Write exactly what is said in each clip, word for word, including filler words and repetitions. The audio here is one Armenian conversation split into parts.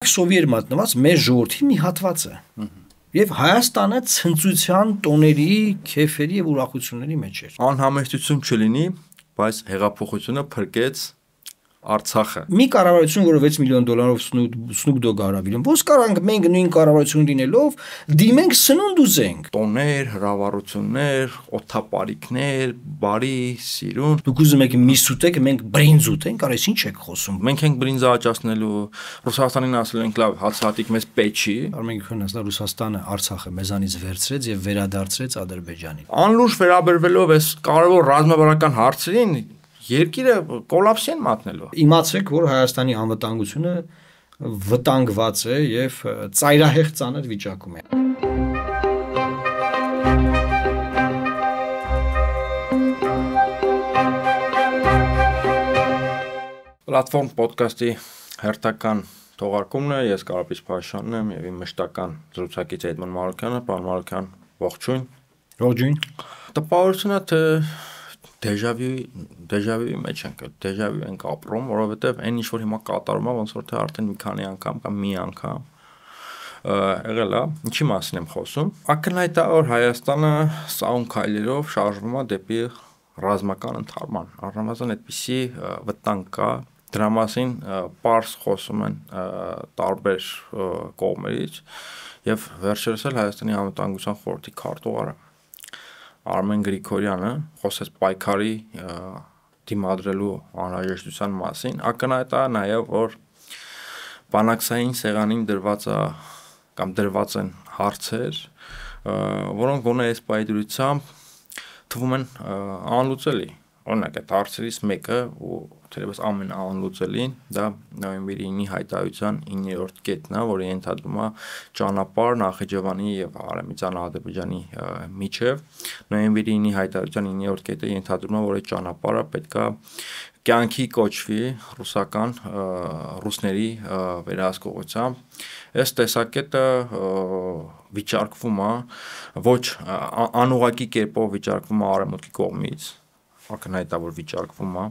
Մարկսովի էր մատնված մեր ժողովրդի մի հատվածը։ Եվ Հայաստանը ցնծության տոների, քեֆերի եւ ուրախությունների մեջ էր։ Անհամեստություն չլինի, բայց հեղափոխությունը փրկեց Արցախը։ Մի կառավարություն, որը վեց միլիոն դոլարով Snoop Dogg արավիրում, ոնց կարանք մենք նույն կառավարություն լինելով դիմենք սնունդ ուզենք։ Տոներ, հրավառություններ, օթապարիկներ, բարի, սիրուն։ Դուք ուզում եք միս ուտեք, մենք բրինձ ուտենք, արես ինչ եք խոսում։ Մենք ենք բրինձը աճացնելու, Ռուսաստանին ասել ենք լավ, հացահատիկ մեզ պեչի։ Արմեն քննասնա Ռուսաստանը Արցախը մեզանից վերցրեց եւ վերադարձրեց Ադրբեջանին։ Անլուրջ վերաբերվելով այս կարևոր ռազմավարական հարցերին երկիրը կոլապսի են մատնելու։ Իմացեք, որ Հայաստանի անվտանգությունը վտանգված է եւ ծայրահեղ ծանր վիճակում է։ Պլատֆորմ ոդկասթի հերթական թողարկումն է, ես Կարապետ Փաշյանն եմ եւ իմ մշտական զրուցակից Էդմոն Մարուկյանը, պարոն Մարուկյան, ողջույն։ Ողջույն։ Տպավորությունը թե դեժավյուի դեժավյուի մեջ ենք, դեժավյու ենք ապրում, որովհետեւ այն ինչ որ հիմա կատարում է, ոնց որ թե արդեն մի քանի անգամ կամ մի անգամ եղել է, ինչի մասին եմ խոսում։ Ակնհայտ է, որ Հայաստանը սահուն քայլերով շարժվում է դեպի ռազմական ընդհարման։ Առնվազն այդպիսի վտանգ կա, դրա մասին պարզ խոսում են տարբեր կողմերից եւ վերջերս էլ Հայաստանի անվտանգության խորհրդի քարտուղարը Արմեն Գրիգորյանը խոսեց պայքարի դիմադրելու անհրաժեշտության մասին, ակնհայտ է նաև որ բանակցային սեղանին դրված է կամ դրված են հարցեր, որոնք գոնե այս պայդրությամբ թվում են անլուծելի։ Օրինակ այդ հարցերից մեկը ու թերևս ամենաանլուծելին դա նոյեմբերի ինի հայտարարության իններորդ կետն է, որը ենթադրում է ճանապարհ Նախիջևանի եւ Արեմիջան Ադրբեջանի միջև։ Նոյեմբերի ինի հայտարարության իններորդ կետը ենթադրում է, որ այդ ճանապարհը պետքա կյանքի կոչվի ռուսական ռուսների վերահսկողությամբ։ Այս տեսակետը վիճարկվում է ոչ անուղղակի կերպով վիճարկվում է արևմուտքի կողմից, ակնհայտ է որ վիճարկվում է։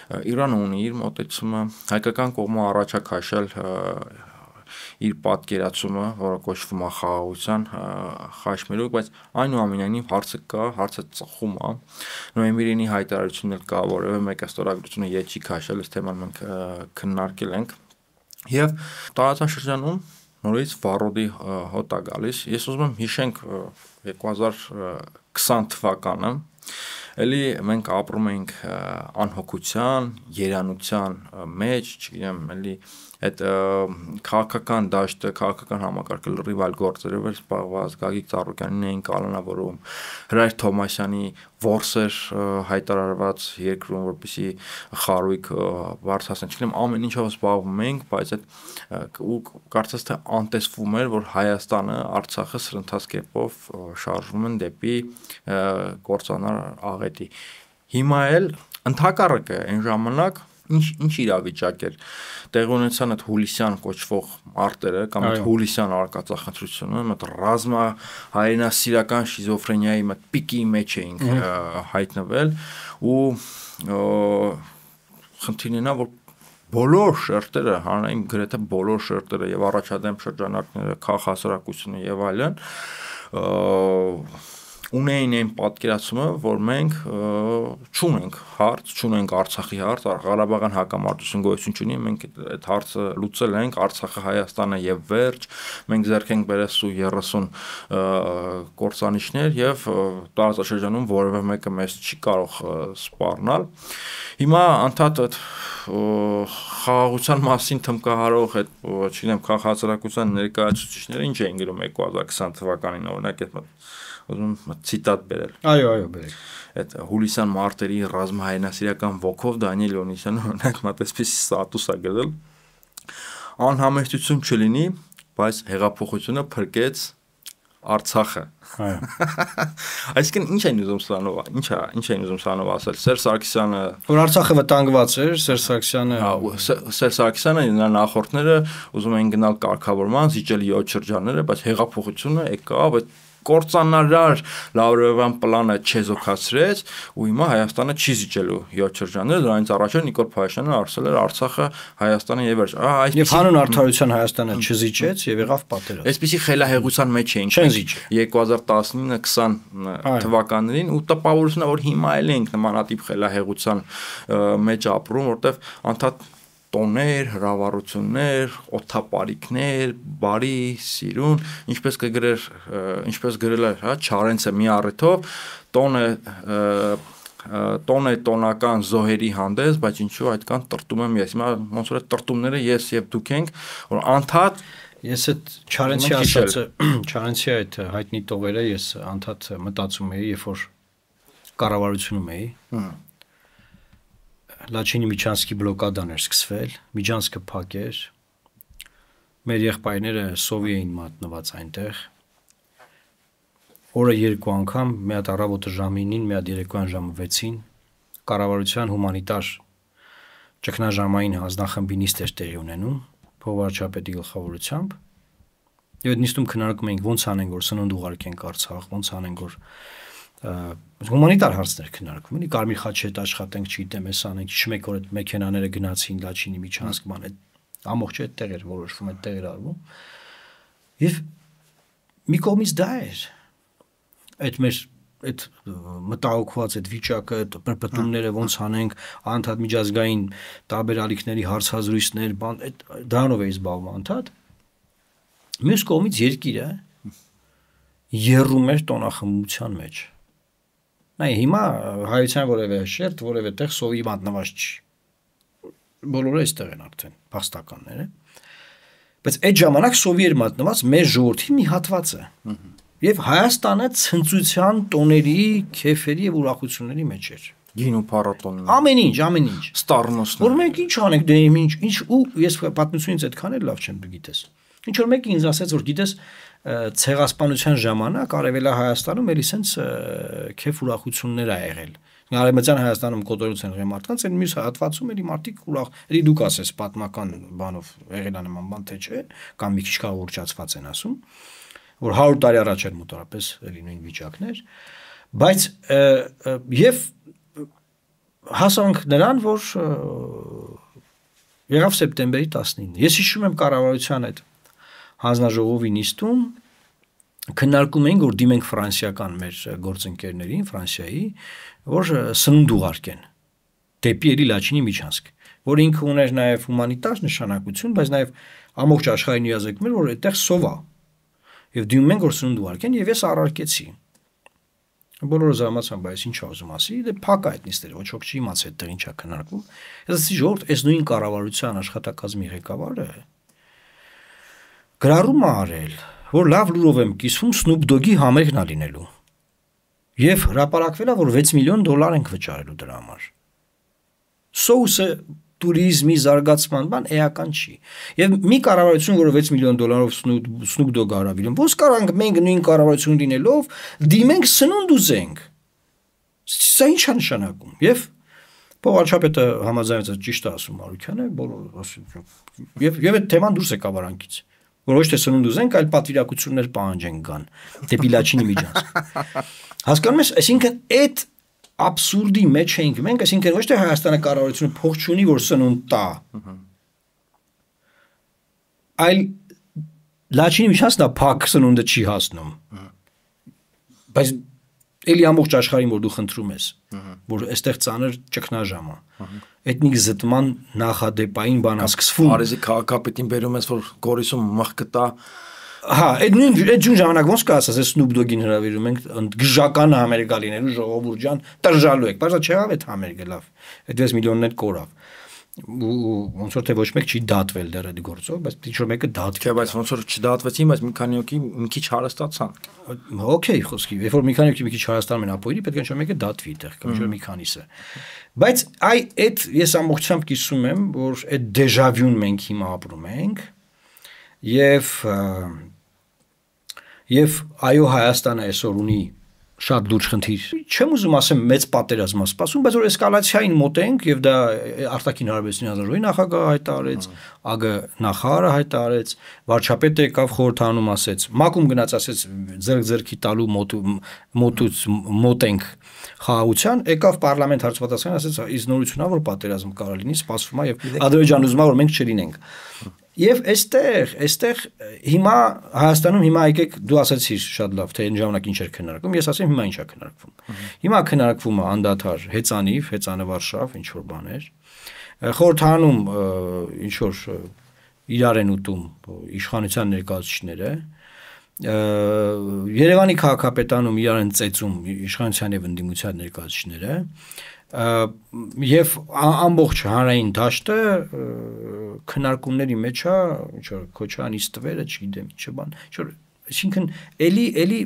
Իրանը ունի իր մոտեցումը, հայկական կողմը առաջ է քաշել իր պատկերացումը, որը կոչվում է խաղաղության խաչմերուկ, բայց այնուամենայնիվ հարցը կա, հարցը ծխում է։ Նոյեմբերի հայտարարությունն էլ կա, որևէ մեկը ստորագրությունը ետ չի քաշել, այս թեման մենք քննարկել ենք։ Եվ տարածաշրջանում նորից վառոդի հոտ է գալիս։ Ես ուզում եմ հիշենք երկու հազար քսան թվականը, էլի մենք ապրում ենք անհոգության, երանության մեջ, չգիտեմ, էլի այդ քաղաքական դաշտը, քաղաքական համակարգը լրիվ այլ գործերով էր զբաղված, Գագիկ Ծառուկյանին էին կալանավորում, Հրայր Թոմասյանի որսեր հայտարարված երկրում, որպեսզի խարույկ բարձրացնեն, չգիտեմ, ամեն ինչով զբաղվում ենք, բայց այդ ու կարծես թե անտեսվում էր, որ Հայաստանը, Արցախը սրընթաց կերպով շարժվում են դեպի կործանար աղետի։ Հիմա էլ ընդհակառակը այն ժամանակ ինչ ինչ իրավիճակ էր տեղի ունեցան այդ հուլիսյան կոչվող մարտերը կամ այդ հուլիսյան արկածախնդրությունը, այդ ռազմա հայրենասիրական շիզոֆրենիայի մի պիկի մեջ էինք հայտնվել ու խնդիրն է որ բոլոր շերտերը, հանրային գրեթե բոլոր շերտերը եւ առաջադեմ շրջանակները, քաղաքասարակությունը եւ այլն ունեին այն պատկերացումը, որ մենք չունենք հարց, չունենք Արցախի հարց, Ղարաբաղյան հակամարտություն գոյություն չունի, մենք այդ հարցը լուծել ենք, Արցախը Հայաստանը եւ վերջ, մենք ձեռք ենք բերել սու երեսուն կործանիչներ եւ տարածաշրջանում որևէ մեկը մեզ չի կարող սպառնալ։ Հիմա անդադ այդ խաղաղության մասին թմկահարող այդ, չգիտեմ, քաղաքացիական ներկայացուցիչները ինչ էին գրում երկու հազար քսան թվականին, օրինակ այդ ուզում ցիտատ բերել։ Այո, այո, բերեք։ Այդ հուլիսյան մարտերի ռազմահայրենասիրական ոգով Դանիել Օնիսյանը օրինակ մտածպես ստատուս է գրել։ Անհամեստություն չլինի, բայց հեղափոխությունը փրկեց Արցախը։ Այո։ Այսինքն ինչ են ուզում սրանով, ինչա, ինչ են ուզում սրանով ասել։ Սերժ Սարգսյանը, որ Արցախը վտանգված էր, Սերժ Սարգսյանը, Սերժ Սարգսյանը նա նախորդները ուզում էին գնալ կարգավորման, զիջել յոթ շրջանները, բայց հեղափոխությունը եկավ այդ կործանարար Լավրովյան պլանը չեզոքացրեց ու հիմա Հայաստանը չի զիջելու յոթ շրջանները, դրանից առաջ Նիկոլ Փաշինյանը ասել էր Արցախը Հայաստանի եւ վերջ։ Եվ հանուն արդարության Հայաստանը չզիջեց եւ եղավ պատերազմ։ Այսպեսի խելահեղության մեջ էինք երկու հազար տասնինը քսան թվականներին ու տպավորությունն է որ հիմա էլ ենք նմանատիպ խելահեղության մեջ ապրում, որտեվ անդադ տոներ, հրավառություններ, օթապարիկներ, բարի, սիրուն, ինչպես կգրեր, ինչպես գրել էր, հա, Չարենցը մի առիթով, տոնը տոն է տոնական զոհերի հանդես, բայց ինչու այդքան տրտում եմ ես։ Հիմա ոնց որ տրտումները ես եւ դուք ենք, որ անդադ ես այդ Չարենցի ասածը, Չարենցի այդ հայտնի տողերը ես անդադ մտածում էի, երբ որ կառավարությունում էի։ Լաչինի Միչանսկի բլոկադան էր սկսվել, Միչանսկը փակեր, մեր եղբայրները սովի էին մատնված այնտեղ, օրը երկու անգամ, մի հատ առավոտը ժամինին, մի հատ երեկոյան ժամը վեցին, կառավարության հումանիտար ճգնաժամային հանձնախմբի նիստ էր տեղի ունենում, փոխվարչապետի գլխավորությամբ, եւ այդ նիստում քննարկում էինք ոնց անենք, որ սնունդ ուղարկենք Արցախ, ոնց անենք, որ հումանիտար հարցներ քննարկում էինք, Կարմիր խաչի հետ աշխատենք, չգիտեմ, էս անենք, չմեկ օր այդ մեքենաները գնացին Լաչինի Միչանսկ բան, այդ ամբողջ այդ տեղեր որոշվում, այդ տեղեր արվում։ Եվ մի կողմից դա էր։ Այդ մեր այդ մտահոգված այդ վիճակը, այդ պրպտումները ոնց անենք, անդադ միջազգային տարբեր ալիքների հարցազրույցներ, բան, այդ դրանով էի զբաղվում անդադ։ Մյուս կողմից երկիրը եռում էր տոնախմբության մեջ։ Նայ հիմա հայության որևէ շերտ, որևէ տեղ սովի մատնված չի։ Բոլորը այստեղ են արդեն փաստականները։ Բայց այդ ժամանակ սովի էր մատնված մեր ժողովրդի մի հատվածը։ Եվ Հայաստանը ցնծության տոների, քեֆերի եւ ուրախությունների մեջ էր։ Գինու փառատոնն։ Ամեն ինչ, ամեն ինչ։ Ստառնոսն։ Որ մենք ինչ անենք, դե ինչ, ինչ ու ես պատմությունից այդքան էլ լավ չեմ գիտես։ Ինչ որ մեկը ինձ ասեց, որ գիտես ցեղասպանության ժամանակ Արևելա Հայաստանում էլի սենց քեֆ ուրախություններ ա եղել։ Արևմտյան Հայաստանում կոտորություն եղել մարդկանց, այն մյուս հատվածում էլի մարդիկ ուրախ, էլի դուք ասես պատմական բանով եղել է նման բան թե չէ, կամ մի քիչ կաղուրջացված են ասում, որ հարյուր տարի առաջ էր մոտավորապես էլի նույն վիճակներ, բայց եւ հասանք նրան, որ եղավ սեպտեմբերի տասնինը։ Ես հիշում եմ կառավարության այդ հանձնաժողովի նիստում քննարկում էինք, որ դիմենք ֆրանսիական մեր գործընկերներին, Ֆրանսիայի, որ սնունդ ուղարկեն դեպի էլի Լաչինի Միչանսկ, որ ինքը ուներ նաև հումանիտար նշանակություն, բայց նաև ամբողջ աշխարհին իազեկում էր, որ այդտեղ սով է։ Եվ դիմում ենք, որ սնունդ ուղարկեն, եւ ես առարկեցի։ Բոլորը զարմացան, բայց ինչ ուզում ասի, դե փակ այդ նիստերը, ոչ ոք չի իմացել այդտեղ ինչա քննարկվում։ Ես ասեցի, ժողովուրդ, այս նույն կառավարության աշխատակազմի ղեկավարը գրառում է արել, որ լավ լուրով եմ կիսվում Snoop Dogg-ի համերգն ա լինելու։ Եվ հրապարակվել է, որ վեց միլիոն դոլար ենք վճարելու դրա համար։ Սոուսը տուրիզմի զարգացման բան էական չի։ Եվ մի կառավարություն, որը վեց միլիոն դոլարով Snoop Dogg արավիլում, ոնց կարանք մենք նույն կառավարություն լինելով դիմենք սնունդ ուզենք։ Սա ինչ է նշանակում։ Եվ փոխարչապետը համաձայնեց, ճիշտ է ասում Մարուկյանը, բոլորը ասում։ Եվ եւ այդ թեման դուրս եկավ արանքից։ Որ ոչ թե սնունդ ուզենք, այլ պատվիրակություններ պահանջենք գան դեպի Լաչինի Միչանսկ։ Հասկանում ես, այսինքն այդ абսուրդի մեջ ենք մենք, այսինքն ոչ թե Հայաստանը կառավարությունը փող չունի, որ սնունդ տա։ Այլ Լաչինի Միչանսկն է փակ սնունդը չի հասնում։ Բայց էլի ամբողջ աշխարհին որ դու խնդրում ես, որ այստեղ ծանր ճգնաժամ է։ Էթնիկ զտման նախադեպային բան է սկսվում։ Արեզի քաղաքապետին բերում ես, որ Գորիսում մահ կտա։ Հա, այդ նույն այդ ջուն ժամանակ ոնց կասես, այս Snoop Dogg-ին հրավիրում ենք գժական համերգա լինելու ժողովուրդ ջան, տրժալու եք։ Բայց չեղավ այդ համերգը լավ։ Այդ վեց միլիոններ կորավ։ Ոնց որ թե ոչ մեկ չի դատվել դեռ այդ գործով, բայց ինչ որ մեկը դատվի։ Չէ, բայց ոնց որ չդատվեցին, բայց մի քանի օքի մի քիչ հարստացան։ Okay, խոսքի, երբ որ մի քանի օքի մի քիչ հարստանում են ապօրինի, պետք է ինչ որ մեկը դատվի այդտեղ, կամ ինչ որ մի քանիսը։ Բայց այ այդ ես ամբողջությամբ կիսում եմ, որ այդ դեժավյուն մենք հիմա ապրում ենք, եւ եւ այո Հայաստանը այսօր ունի շատ լուրջ խնդիր։ Չեմ ուզում ասեմ մեծ պատերազմ է սպասում, բայց որ էսկալացիային մոտենք եւ դա արտաքին հարաբերությունների ազգային նախագահը հայտարարեց, ԱԳ նախարարը հայտարարեց, վարչապետը եկավ խորհրդանում ասեց, մակում գնաց ասեց ձեռք-ձեռքի տալու մոտ մոտուց մոտենք խաղաղության, եկավ պարլամենտ հարցվածական ասեց, իսկ նորությունա որ պատերազմ կարող լինի, սպասվում է եւ Ադրբեջանը ուզում է որ մենք չլինենք։ Եվ այստեղ, այստեղ հիմա Հայաստանում հիմա եկեք դու ասացիր շատ լավ, թե այն ժամանակ ինչ էր քննարկվում, ես ասեմ հիմա ինչ է քննարկվում։ Հիմա քննարկվում է անդադար հեծանիվ, հեծանը Վարշավ, ինչ որ բաներ։ Խորհրդանում ինչ որ իրար են ուտում իշխանության ներկայացուցիչները։ Երևանի քաղաքապետանում իրար են ծեծում իշխանության եւ ընդդիմության ներկայացուցիչները։ Եվ ամբողջ հանրային դաշտը քննարկումների մեջ է, ինչ որ Քոչարյանի ստվերը, չգիտեմ, ինչ բան, ինչ որ այսինքն էլի էլի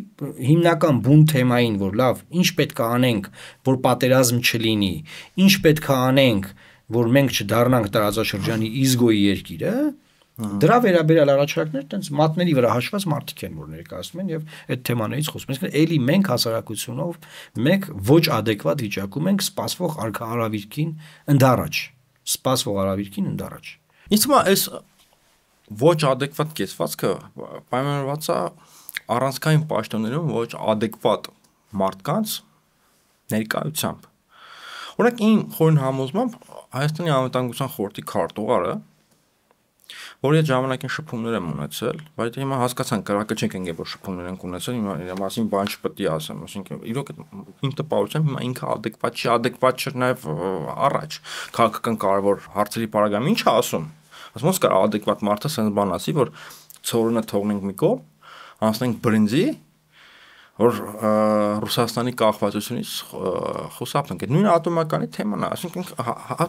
հիմնական բուն թեմային, որ լավ, ինչ պետք է անենք, որ պատերազմ չլինի, ինչ պետք է անենք, որ մենք չդառնանք տարածաշրջանի իզգոյի երկիրը, դրա վերաբերյալ առաջարկներ տենց մատների վրա հաշված մարդիկ են, որ ներկայացնում են եւ այդ թեմաներից խոսում են։ Էլի մենք հասարակությունով մենք ոչ adekvat վիճակում ենք սպասվող արարավիրքին ընդառաջ, սպասվող արարավիրքին ընդառաջ։ Իսկ մա այս ոչ adekvat կեցվածքը պայմանավորված է առանցքային պաշտոններում ոչ adekvat մարդկանց ներկայությամբ։ Օրինակ իմ խորին համոզմամբ Հայաստանի անվտանգության խորհրդի քարտուղարը որ այդ ժամանակին շփումներ եմ ունեցել, բայց հիմա հասկացանք կրակը չենք ընկել որ շփումներ ենք ունեցել, հիմա իր մասին բան չպետք է ասեմ, ասինքն իրոք իմ տպավորությամբ հիմա ինքը adekvat չի, adekvat չէ նաև առաջ քաղաքական կարևոր հարցերի պարագայում ինչ է ասում։ Ասում ոնց կա adekvat մարդը sense բան ասի, որ ցորոնը թողնենք մի կողմ, անցնենք բրինձի, որ Ռուսաստանի կախվածությունից խուսափենք։ Այդ նույն ատոմականի թեման է, ասինքն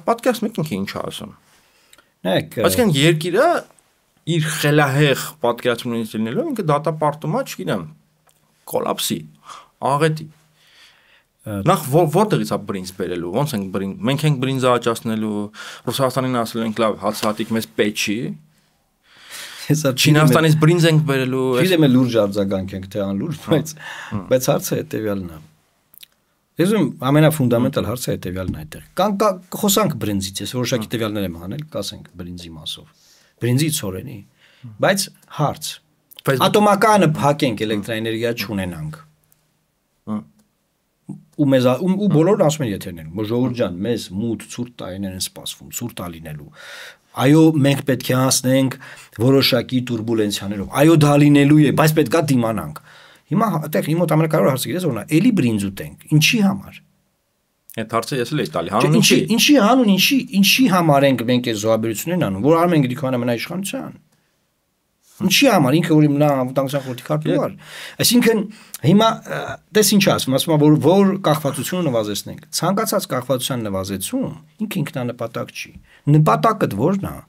պատկերացնեք ինքը ինչ է ասում։ Այսինքն երկիրը իր խելահեղ պատկերացումներից լինելով ինքը դատապարտում է, չգիտեմ, կոլապսի, աղետի։ Նախ որտեղից է բրինձ բերելու, ոնց ենք բրինձ, մենք ենք բրինձը աճացնելու, Ռուսաստանին ասել ենք լավ, հացահատիկ մեզ պետք չի։ Չինաստանից բրինձ ենք բերելու։ Գիտեմ է լուրջ արձագանք ենք, թե անլուրջ, բայց բայց հարցը հետեւյալն է։ Ես ուզում ամենաֆունդամենտալ հարցը հետեւյալն է այդտեղ։ Կան խոսանք բրինձից, ես որոշակի տվյալներ եմ հանել, կասենք բրինձի մասով։ Բրինձի ցորենի, բայց հարց։ Ատոմականը փակենք, էլեկտրաէներգիա չունենանք։ Ու մեզ ու բոլորն ասում են եթերներում, որ ժողովուրդ ջան, մեզ մութ ցուրտ տարիներ են սպասվում, ցուրտ է լինելու։ Այո, մենք պետք է հասնենք որոշակի турբուլենցիաներով։ Այո, դա լինելու է, բայց պետք է դիմանանք։ Հիմա այդտեղ իմ մոտ ամենակարևոր հարցը գիտես որն է, էլի բրինձ ուտենք, ինչի համար։ Այդ հարցը ես էլ էի տալի, հանուն ինչի։ Ինչի հանուն, ինչի, ինչի համար ենք մենք այս զոհաբերություններն անում, որ արում ենք Գրիգորյան ամենաիշխանության։ Ինչի համար ինքը որ նա անվտանգության խորհրդի քարտուղար։ Այսինքն հիմա դες ինչ ասում, ասում որ որ կախվածությունը նվազեցնենք։ Ցանկացած կախվածության նվազեցում ինքը ինքնանպատակ չի։ Նպատակը ո՞րն է։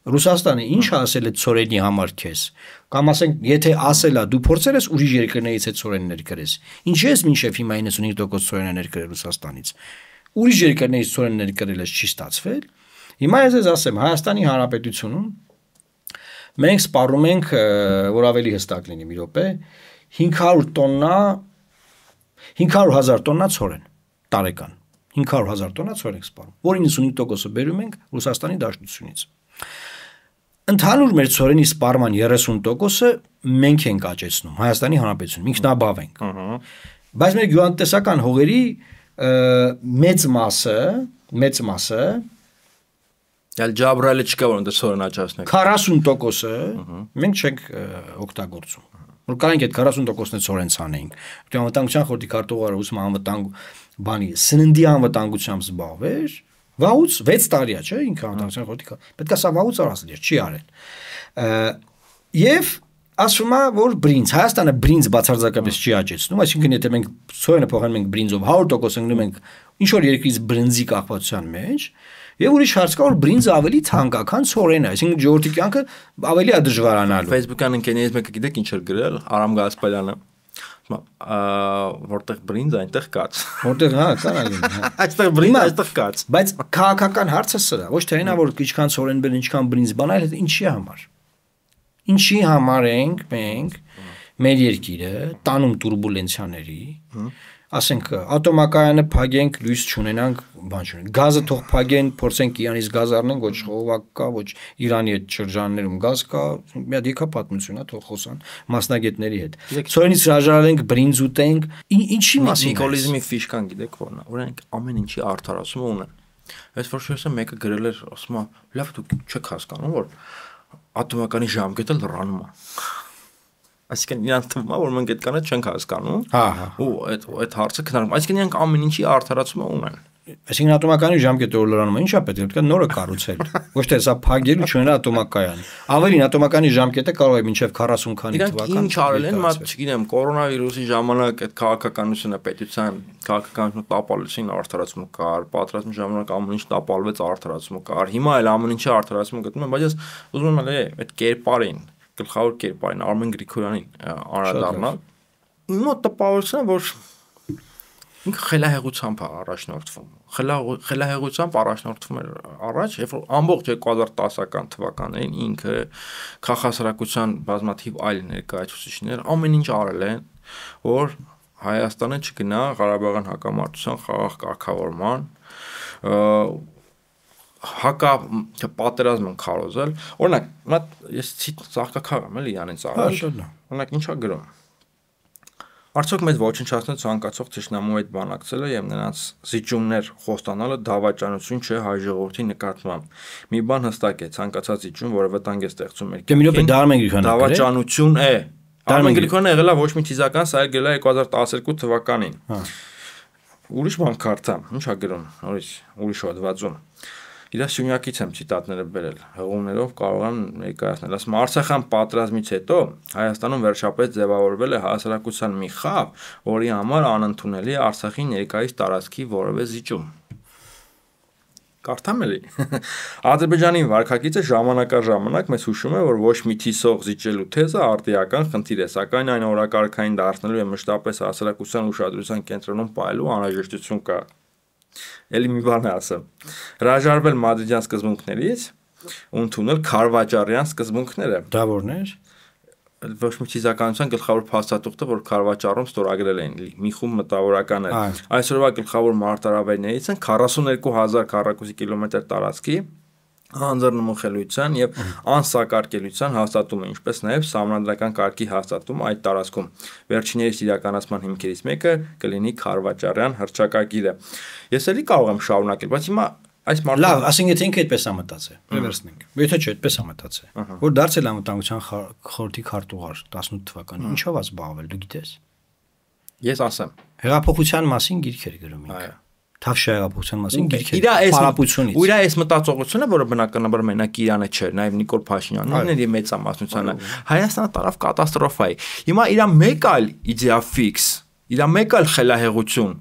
Ռուսաստանը ինչ ասել է ցորենի համար քեզ, կամ ասենք, եթե ասել է դու փորձել ես ուրիշ երկրներից այդ ցորեններ գրես, ինչի՞ ես մինչև հիմա իննսունհինգ տոկոս ցորեններ գրել Ռուսաստանից, ուրիշ երկրներից ցորեններ գրել ես չի ստացվել, հիմա ես ես ասեմ, Հայաստանի Հանրապետությունում մենք սպառում ենք, որ ավելի հստակ լինի մի րոպե, հինգ հարյուր տոննա հինգ հարյուր հազար տոննա ցորեն տարեկան, հինգ հարյուր հազար տոննա ցորեն ենք սպառում, որի իննսունհինգ տոկոսը բերում ենք Ռուսաստանի Դաշնությունից։ Ընդհանուր մեր ցորենի սպառման երեսուն տոկոսը մենք ենք աճեցնում Հայաստանի Հանրապետությունում, ինքնաբավ ենք։ Բայց մեր գյուղատնտեսական հողերի մեծ մասը, մեծ մասը Յալ ջաբրալը չկա որ ընդ ցորեն աճացնենք։ քառասուն տոկոսը մենք չենք օգտագործում։ Որ կարանք այդ քառասուն տոկոսն է ցորեն ցանեինք։ Դու անվտանգության խորհրդի քարտուղարը ուսում անվտանգ բանի սննդի անվտանգությամբ զբաղվեր, վաղուց վեց տարի է, չէ՞, ինքը անվտանգության խորհրդի պետք է սա վաղուց արածել էր, չի արել։ Եվ ասում է որ բրինձ Հայաստանը բրինձ բացարձակապես չի աճեցնում, այսինքն եթե մենք ցորենը փոխանցում ենք բրինձով հարյուր տոկոս ընկնում ենք ինչ որ երկրից բրինձի կախվածության մեջ, եւ ուրիշ հարց կա որ բրինձը ավելի թանկ է, քան ցորենը, այսինքն ժողովրդի կյանքը ավելի է դժվարանալու։ Facebook-ան ընկերներից մեկը գիտեք ինչ էր գրել, Արամ Գասպարյանը, որտեղ բրինձ այնտեղ կաց։ Որտեղ հա, կարա լինի, հա։ Այստեղ բրինձ, այստեղ կաց։ Բայց քաղաքական հարցը սրա, ոչ թե այնա որ ինչքան ցորեն բերեն, ինչքան բրինձ բան, այլ ինչի համար։ Ինչի համար ենք մենք մեր երկիրը տանում турբուլենցիաների, ասենք ատոմակայանը փակենք, լույս չունենանք, բան չունենք։ Գազը թող փակեն, փորձենք Իրանից գազ առնենք, ոչ խողովակ կա, ոչ Իրանի այդ շրջաններում գազ կա, մի հատ եկա պատմություն է, թող խոսան մասնագետների հետ։ Ցորենից հրաժարենք, բրինձ ուտենք, ինչի մասին։ Նիկոլիզմի ֆիշկան գիտեք որն է, օրինակ ամեն ինչի արդարացումը ունեն։ Այս որ շեսը մեկը գրել էր, ասում է, լավ դուք չեք հասկանում, որ ատոմականի ժամկետը լրանում է։ Այսինքն իրանց թվում է, որ մենք այդ կանը չենք հասկանում։ Հա, հա։ Ու այդ այդ հարցը քննարկում։ Այսինքն իրանք ամեն ինչի արդարացումը ունեն։ Այսինքն ատոմակայանի ժամկետը որ լրանում է, ինչա պետք է պետք է նորը կառուցել։ Ոչ թե սա փակել ու չունենա ատոմակայան։ Ավելին ատոմակայանի ժամկետը կարող է մինչև քառասուն քանի թվական։ Ինչ արել են, մա չգիտեմ, կորոնավիրուսի ժամանակ այդ քաղաքականությունը պետության քաղաքականությունը տապալեցին, արդարացումը կար, պատրաստման ժամանակ ամեն ինչ տապալվեց, արդարացումը կար։ Հիմա էլ ամեն ինչի արդարացումը գտնում են, բայց ես ուզում եմ էլ այդ կերպարին, գլխավոր կերպարին Արմեն Գրիգորյանին անդրադառնալ։ Մոտ տպավորությունն է, որ ինքը խելահեղությամբ է առաջնորդվում։ Խելահեղությամբ առաջնորդվում էր առաջ, երբ որ ամբողջ երկու հազար տասական թվականներին ինքը քաղաքասարակության բազմաթիվ այլ ներկայացուցիչներ ամեն ինչ արել են, որ Հայաստանը չգնա Ղարաբաղյան հակամարտության խաղաղ կարգավորման, հակա պատերազմ են քարոզել։ Օրինակ, մա ես ցաղկակար եմ էլի Իրանից առել։ Օրինակ ինչա գրում։ Արդյոք մեծ ոչնչացնել ցանկացող թշնամու հետ բանակցելը եւ նրանց զիջումներ խոստանալը դավաճանություն չէ հայ ժողովրդի նկատմամբ։ Մի բան հստակ է, ցանկացած զիջում, որը վտանգ է ստեղծում մեր երկրին, դավաճանություն է։ Արմեն Գրիգորյանը եղել է ոչ մի թիզական, սա էլ գրել է երկու հազար տասներկու թվականին։ Ուրիշ բան կարդամ, ի՞նչ է գրում, ուրիշ ուրիշ հոդվածում։ Իր սյունյակից եմ ցիտատները բերել, հղումներով կարող եմ ներկայացնել։ Ասում Արցախյան պատերազմից հետո Հայաստանում վերջապես ձևավորվել է հասարակության մի խավ, որի համար անընդունելի է Արցախի ներկայիս տարածքի որևէ զիջում։ Կարդամ էլի։ Ադրբեջանի վարքագիծը ժամանակաժամանակ մեզ հուշում է, որ ոչ մի թիսող զիջելու թեզը արտիական խնդիր է, սակայն այն օրակարգային դարձնելու եւ մշտապես հասարակության ուշադրության կենտրոնում պահելու անհրաժեշտություն կա։ Էլի մի բան ասեմ։ Հրաժարվել մադրիդյան սկզբունքներից ու ընդունել քարվաճարյան սկզբունքները։ Դա որն էր։ Ոչ մի թիզականության գլխավոր փաստաթուղթը, որ քարվաճարում ստորագրել են մի խումբ մտավորականներ։ Այսօրվա գլխավոր մարտահրավերներից են քառասուններկու հազար քառակուսի կիլոմետր տարածքի անձեռնմխելիության եւ անսակարկելիության հաստատումը, ինչպես նաեւ սահմանադրական կարգի հաստատումը այդ տարածքում։ Վերջիններիս իրականացման հիմքերից մեկը կլինի քարվաճարյան հռչակագիրը։ Ես էլի կարող եմ շարունակել, բայց հիմա այս մարդը լավ, ասենք եթե ինքը այդպես է մտածել, վերցնենք։ Եթե չէ, այդպես է մտածել, որ դարձել անվտանգության խորհրդի քարտուղար տասնութ թվականին, ինչով է զբաղվել, դու գիտես։ Ես ասեմ, հեղափոխության մասին գիրքեր գրում ինքը։ Թավշյա հեղափոխության մասին գիրքեր։ Պարապությունից։ Ու իր այս մտածողությունը, որը բնականաբար մենակ Իրանը չէ, նաև Նիկոլ Փաշինյանն էր եւ մեծամասնությանը, Հայաստանը տարավ կատաստրոֆայի։ Հիմա իր մեկ այլ իդեա ֆիքս, իր մեկ այլ խելահեղություն,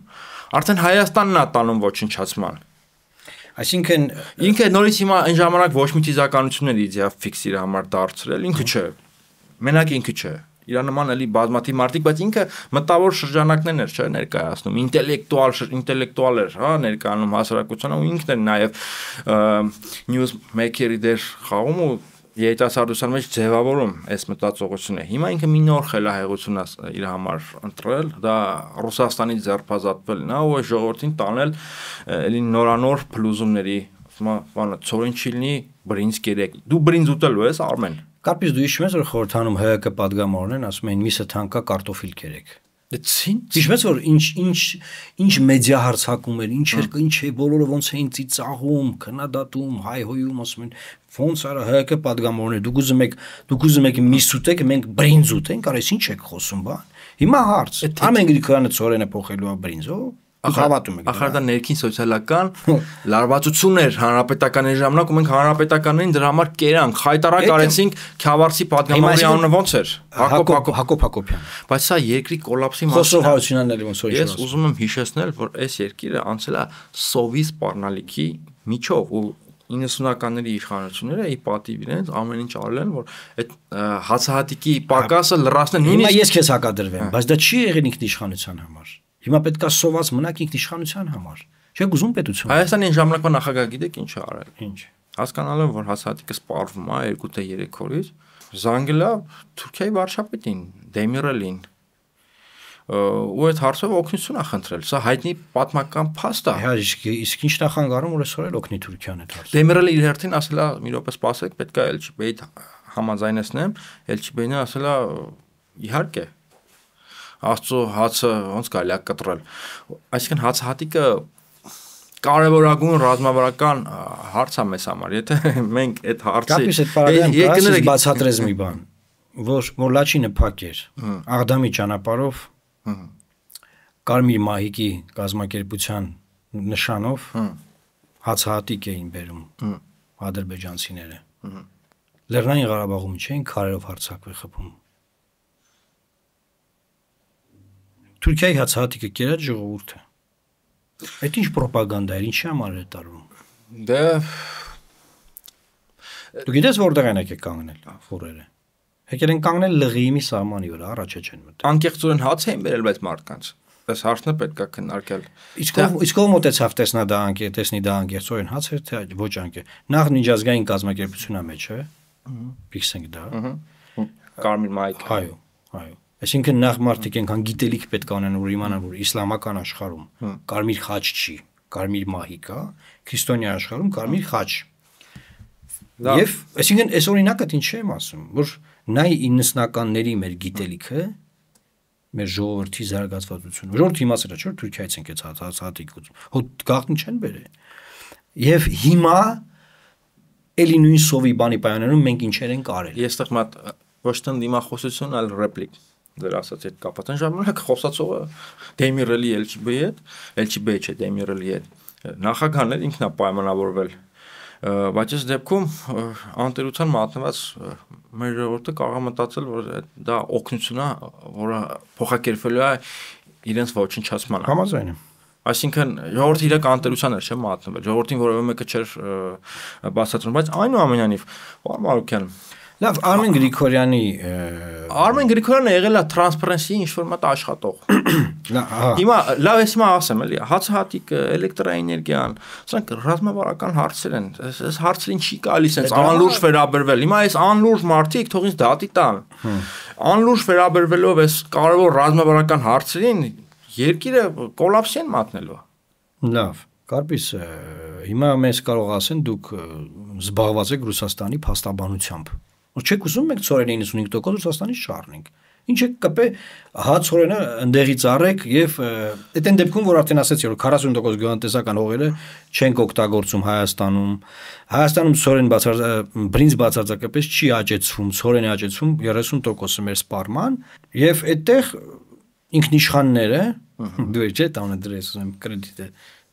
արդեն Հայաստանն է տանում ոչնչացման։ Այսինքն ինքը նորից հիմա այն ժամանակ ոչ մի թիզականություններ իդեա ֆիքս իր համար դարձրել, ինքը չէ։ Մենակ ինքը չէ։ Իր նման էլի բազմաթիվ մարդիկ, բայց ինքը մտավոր շրջանակներն էր, չէ, ներկայացնում, ինտելեկտուալ, ինտելեկտուալ էր, հա, ներկայանում հասարակությանը ու ինքն էր նաև նյուզ մեյքերի դեր խաղում ու երիտասարդության մեջ ձևավորում այս մտածողությունը։ Հիմա ինքը մի նոր խելահեղություն է իր համար ընտրել, դա Ռուսաստանից ձերբազատվելն է ու ժողովրդին տանել էլի նորանոր փլուզումների, բանը ծորին չիլնի բրինձ կերեք։ Դու բրինձ ուտելու ես, Արմեն։ Կարծես դու հիշում ես, որ խորհրդանում ՀՀԿ պատգամավորն են ասում են միսը թանկա կարտոֆիլ կերեք։ Դեցին։ Հիշում ես որ ինչ ինչ ինչ մեդիա հարցակում էր, ինչ էր, ինչ է, բոլորը ոնց էին ծիծաղում, քննադատում, հայհոյում, ասում են ոնց արա ՀՀԿ պատգամավորներ, դուք ուզում եք, դուք ուզում եք միս ուտեք, մենք բրինձ ուտենք, արես ինչ եք խոսում, բան։ Հիմա հարց։ Արմեն Գրիգորյանը ծորենը փոխելու է բրինձով։ Հավատում եք։ Ախր դա ներքին սոցիալական լարվածություն էր հանրապետականների ժամանակ ու մենք հանրապետականներին դրա համար կերանք, խայտարակ արեցինք Քյավառցի պատգամավորի անունը ոնց էր։ Հակոբ Հակոբ Հակոբյան։ Բայց սա երկրի կոլապսի Խոսով Հարությունյանն էլ ոնց որ ես ուզում եմ հիշեցնել, որ այս երկիրը անցել է սովի սպառնալիքի միջով ու իննսունականների իշխանությունները ի պատիվ իրենց ամեն ինչ արել են, որ այդ հացահատիկի պակասը լրացնեն։ Հիմա ես քեզ հակադրվեմ, բայց դա չի եղել ինքնիշխանության համար։ Հիմա պետք է սոված մնաք ինքնիշխանության համար։ Չեք ուզում պետություն։ Հայաստանի ժամանակվա նախագահ գիտեք ինչ է արել։ Ինչ։ Հասկանալով որ հացահատիկը սպառվում է երկու թե երեք օրից, զանգելա Թուրքիայի վարչապետին, Դեմիրելին։ Ու այդ հարցով օգնություն է խնդրել։ Սա հայտնի պատմական փաստ է։ Հա, իսկ ինչ նախանգարում որ այսօր էլ օգնի Թուրքիան այդ հարցը։ Դեմիրելը իր հերթին ասել է՝ մի րոպե սպասեք, պետք է Էլ Չի Բեյիդ համաձայնեցնեմ, Էլ Չի Բեյինը ասել է՝ իհարկե։ Աստծո հացը ոնց կարելի է կտրել։ Այսինքն հացահատիկը կարևորագույն ռազմավարական հարց է մեզ համար։ Եթե մենք այդ հարցի եկներեք բացատրես մի բան, որ Մոլաչինը փակ էր, Աղդամի ճանապարհով Կարմիր մահիկի կազմակերպության նշանով հացահատիկ էին բերում ադրբեջանցիները։ Լեռնային Ղարաբաղում չէին քարերով հարձակվել խփում։ Թուրքիայի հացահատիկը կերած ժողովուրդը։ Այդ ինչ պրոպագանդա էր, ինչի համար է տարվում։ Դե Դու գիտես որտեղ են եկել կանգնել ֆուրերը։ Եկել են կանգնել Լղիիմի սահմանի վրա, առաջ չեն մտել։ Անկեղծորեն հաց էին բերել բայց մարդկանց։ Այս հարցն է պետք է քննարկել։ Իսկ իսկ ով մոտեցավ տեսնա դա անկե, տեսնի դա անկեղծորեն հաց էր թե ոչ անկե։ Նախ միջազգային կազմակերպությունա մեջ է։ Ֆիքսենք դա։ Կարմիր մայք։ Այո, այո։ Այսինքն նախ մարդիկ այնքան գիտելիք պետք է ունեն, որ իմանան, որ իսլամական աշխարհում կարմիր խաչ չի, կարմիր մահի կա, քրիստոնյա աշխարհում կարմիր խաչ։ Եվ այսինքն այս օրինակը ինչ եմ ասում, որ նայ իննսնականների մեր գիտելիքը, մեր ժողովրդի զարգացվածությունը։ Ժողովրդի իմացել է, չէ՞ Թուրքիայից են կեց հացահատիկ հոտ գաղտնի չեն բերել։ Եվ հիմա էլի նույն սովի բանի պայմաններում մենք ինչեր ենք արել։ Ես տեղ մատ ոչ թե դիմախոսություն, այլ ռեպլիկ դեր ասած այդ կապած են ժամանակ խոսացողը Դեմիրելի Էլ Չի Բեյի հետ, Էլ Չի Բեյի չէ Դեմիրելի հետ նախագահն էր ինքն է պայմանավորվել, բայց այս դեպքում անտերության մատնված մեր ժողովուրդը կարող է մտածել, որ դա օգնություն է, որը փոխակերպվելու է իրենց ոչնչացմանը։ Համաձայն եմ։ Այսինքն ժողովրդի իրական անտերության էր չէ մատնվել, ժողովրդին որևէ մեկը չէր բացատրում, բայց այնուամենայնիվ պարոն Մարուկյան Լավ, Արմեն Գրիգորյանի Արմեն Գրիգորյանը եղել է Transparency ինչ-որ մատ աշխատող։ Հիմա լավ ես հիմա ասեմ էլի, հացահատիկը, էլեկտրաէներգիան, սրանք ռազմավարական հարցեր են։ Այս հարցերին չի գալիս այնց անլուրջ վերաբերվել։ Հիմա այս անլուրջ մարդիկ թող ինձ դատի տան։ Անլուրջ վերաբերվելով այս կարևոր ռազմավարական հարցերին երկիրը կոլապսի են մատնելու։ Լավ, Կարպիս, հիմա մեզ կարող ասեն դուք զբաղված եք Ռուսաստանի փաստաբանությամբ։ Չեք ուզում մենք ցորենը իննսունհինգ տոկոս Ռուսաստանից չառնենք։ Ինչ եք կպե հա ցորենը ընդեղից առեք եւ այդ այն դեպքում որ արդեն ասեցի որ քառասուն տոկոս գյուղատնտեսական հողերը չենք օգտագործում Հայաստանում։ Հայաստանում ցորեն բացարձակ բրինձ բացարձակապես չի աճեցվում, ցորեն է աճեցվում երեսուն տոկոսը մեր սպառման եւ այդտեղ ինքնիշխանները դու չէ տանը դրես ուզեմ կրեդիտը